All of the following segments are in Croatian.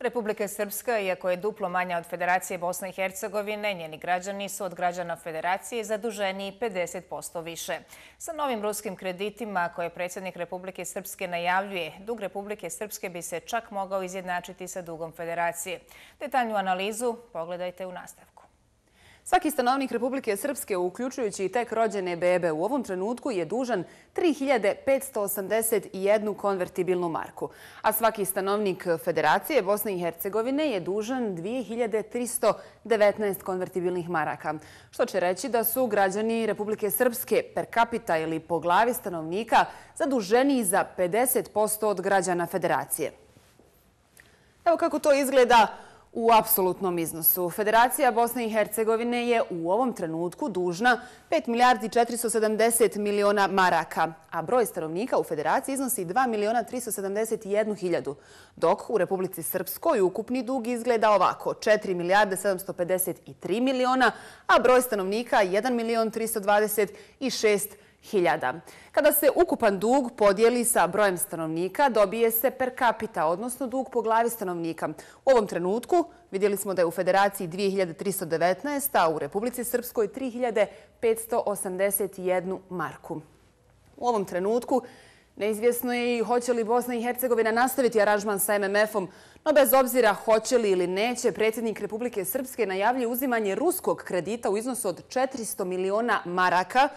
Republika Srpska, iako je duplo manja od Federacije Bosne i Hercegovine, njeni građani su od građana Federacije zaduženiji 50% više. Sa novim ruskim kreditima koje predsjednik Republike Srpske najavljuje, dug Republike Srpske bi se čak mogao izjednačiti sa dugom Federacije. Detaljnu analizu pogledajte u nastavku. Svaki stanovnik Republike Srpske, uključujući i tek rođene bebe, u ovom trenutku je dužan 3.581 konvertibilnu marku, a svaki stanovnik Federacije Bosne i Hercegovine je dužan 2.319 konvertibilnih maraka, što će reći da su građani Republike Srpske per capita ili po glavi stanovnika zaduženiji za 50% od građana Federacije. Evo kako to izgleda u apsolutnom iznosu. Federacija Bosne i Hercegovine je u ovom trenutku dužna 5.470.000.000 maraka, a broj stanovnika u Federaciji iznosi 2.371.000, dok u Republici Srpskoj ukupni dug izgleda ovako: 4.753.000.000, a broj stanovnika 1.326.000. Kada se ukupan dug podijeli sa brojem stanovnika, dobije se per capita, odnosno dug po glavi stanovnika. U ovom trenutku vidjeli smo da je u Federaciji 2.319, a u Republici Srpskoj 3.581 marku. U ovom trenutku neizvjesno je i hoće li Bosna i Hercegovina nastaviti aranžman sa MMF-om, no bez obzira hoće li ili neće, predsjednik Republike Srpske najavljuje uzimanje ruskog kredita u iznosu od 400 miliona maraka.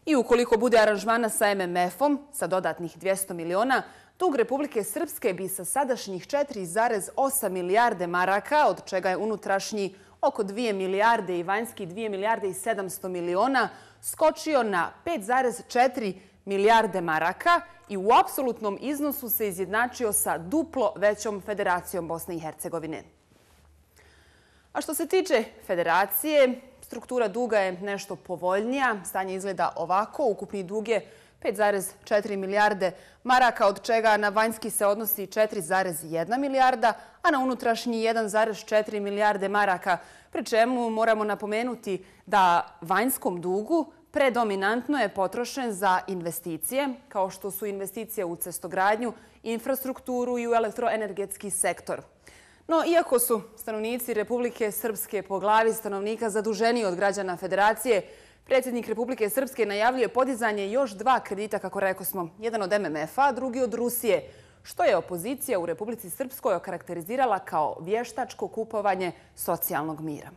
I ukoliko bude aranžmana sa MMF-om, sa dodatnih 200 miliona, dug Republike Srpske bi sa sadašnjih 4,8 milijarde maraka, od čega je unutrašnji oko 2 milijarde i vanjski 2 milijarde i 700 miliona, skočio na 5,4 milijarde maraka i u apsolutnom iznosu se izjednačio sa duplo većom Federacijom Bosne i Hercegovine. A što se tiče Federacije, struktura duga je nešto povoljnija. Stanje izgleda ovako. Ukupni dug je 5,4 milijarde maraka, od čega na vanjski se odnosi 4,1 milijarda, a na unutrašnji 1,4 milijarde maraka. Pri čemu moramo napomenuti da vanjskom dugu predominantno je potrošen za investicije, kao što su investicije u cestogradnju, infrastrukturu i u elektroenergetski sektor. No, iako su stanovnici Republike Srpske po glavi stanovnika zaduženiji od građana Federacije, predsjednik Republike Srpske najavljuje podizanje još dva kredita, kako rekosmo, jedan od MMF-a, a drugi od Rusije, što je opozicija u Republici Srpskoj okarakterizirala kao vještačko kupovanje socijalnog mira.